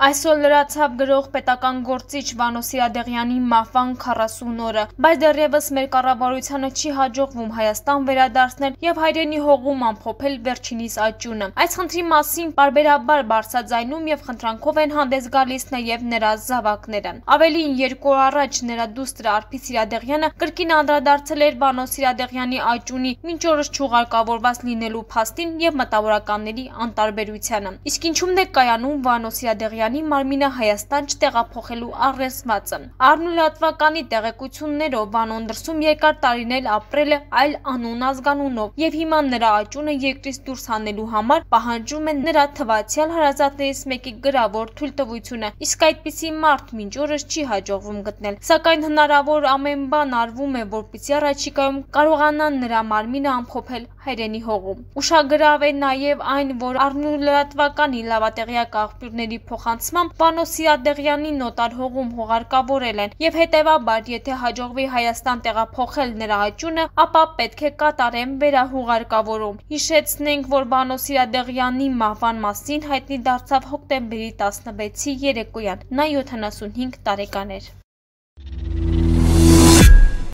Այսօր լրացավ գրող պետական գործիչ Վանո Սիրադեղյանի մահվան 40 օրը, բայց դեռևս մեր կառավարությանը չի հաջողվում Հայաստան վերադարձնել եւ հայրենի հողում ամփոփել վերջինիս աճյունը։ Այս խնդրի մասին պարբերաբար բարձրաձայնում եւ խնդրանքով են հանդես գալիս նաեւ նրա զավակները։ Ավելին 2 օր առաջ նրա դուստրը Արփի Սիրադեղյանը կրկին անդրադարձել էր Վանո Սիրադեղյանի աճյունի մինչ օրս չուղարկավորված լինելու փաստին եւ մտավորականների անտարբերությանը։ Իսկ ինչու՞մն է կայանում Վանո Սիրադեղյանի մարմինը Հայաստան չտեղափոխելու առերեսվածը։ Առնուլատվականի տեղեկություններով Վանոն դրսում երկար տարիներ ապրել է այլ անուն ազգանունով եւ հիմա նրա աճյունը երկրից դուրս հանելու համար պահանջում են նրա թվացյալ հարազատներից մեկի գրավոր թույլտվությունը, իսկ այդպիսի մարդ մինչ օրս չի հաջողվում գտնել։ Սակայն հնարավոր ամեն բան արվում է, որպեսզի առաջիկայում կարողանան նրա մարմինը ամփոփել հայրենի հողում։ Ուշագրավ է նաեւ այն, որ առնուլատվականի լավատեղյակ աղբյուրների փոխանցմամբ Վանո Սիրադեղյանի նոտար հողում հողարկավորել են եւ հետեւաբար եթե հաջողվի Հայաստան տեղափոխել նրա աճյունը, ապա պետք է կատարեն վերահողարկավորում։ Հիշեցնենք, որ Վանո Սիրադեղյանի մահվան մասին հայտնի դարձավ հոկտեմբերի 16-ի երեկոյան։ Նա 75 տարեկան էր։